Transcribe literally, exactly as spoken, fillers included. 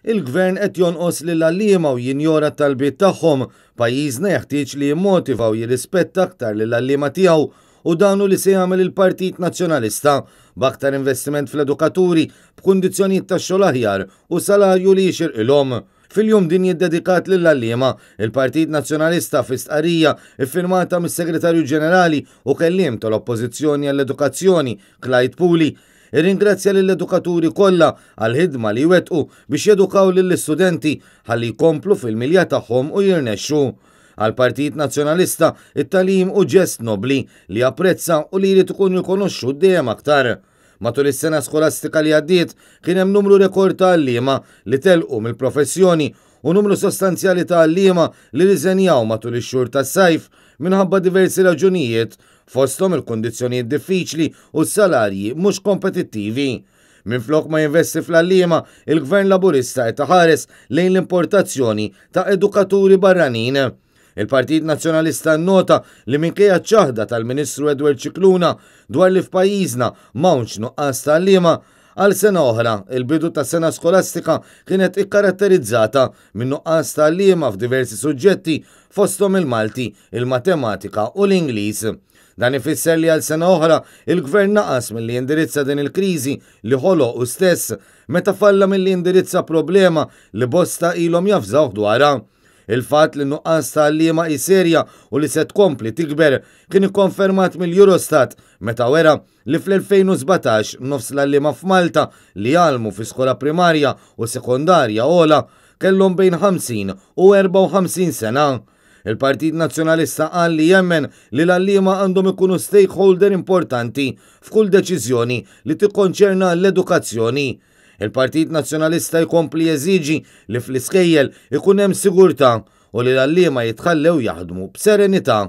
Il-Gvern qed jonqos lill-għalliema u jinjora t-talbiet tagħhom. Pajjiżna jeħtieġ li jimmotiva u jirrispetta aktar lill-għalliema tiegħu u dan hu li se jagħmel il-Partit Nazzjonalista b'aktar investiment fl-edukaturi, b'kundizzjonijiet tax-xogħol aħjar u salarju li jixirqilhom. Fil-jum dinji dedikat lill-għalliema, il-Partit Nazzjonalista, fi stqarrija iffirmata mis-Segretarju Ġenerali u kelliem tal-Oppożizzjoni għall-Edukazzjoni, Clyde Puli, irringrazzja lill-edukaturi kollha għall-ħidma li jwettqu biex jedukaw lill-istudenti ħalli jkomplu fil-milja tagħhom u jirnexxu. Għall-Partit Nazzjonalista, it-tagħlim hu ġest nobli li japprezza u li jrid ikun rikonoxxut dejjem aktar. Matul is-sena skolastika li għaddiet kien hemm numru rekord ta' għalliema li telqu mill-professjoni u numru sostanzjali ta' għalliema li riżenjaw matul ix-xhur tas-sajf minħabba diversi raġunijiet, fosthom il-kundizzjonijiet diffiċli u s-salarji mhux kompetittivi. Minflok ma jinvesti fl-għalliema, il-Gvern Laburista qed iħares lejn l-importazzjoni ta' edukaturi barranin. Il-Partit Nazzjonalista nnota li minkejja ċ-ċaħda tal-Ministru Edward Scicluna dwar li f'pajjiżna m'hawnx nuqqas ta' għalliema, għal sena oħra, il-bidu ta' sena skolastika kienet ikkaratterizzata minn nuqqas ta' għalliema f'diversi suġġetti, fosthom il-Malti, il-Matematika u l-Ingliż. Dan ifisser li għal sena oħra il-Gvern naqas milli jindirizza din il-kriżi li ħoloq hu stess meta falla milli jindirizza problema li bosta ilhom jafżawh dwarha. Il-fatt li nuqqas ta' għalliema hi serja u li se tkompli tikber kien ikkonfermat mill-Eurostat meta wera li fl-elfejn u sbatax nofs l-għalliema f'Malta li jgħallmu fi skola primarja u sekondarja ogħla kellhom bejn ħamsin u erbgħa u ħamsin sena. Il-Partit Nazzjonalista qal li jemmen li l-għalliema għandhom ikunu stakeholder importanti f'kull deċiżjoni li tikkonċerna l-edukazzjoni. Il-Partit Nazzjonalista jkompli jeżiġi li fl-iskejjel ikun hemm sigurtà u li l-għalliema jitħallew jaħdmu b'serenità.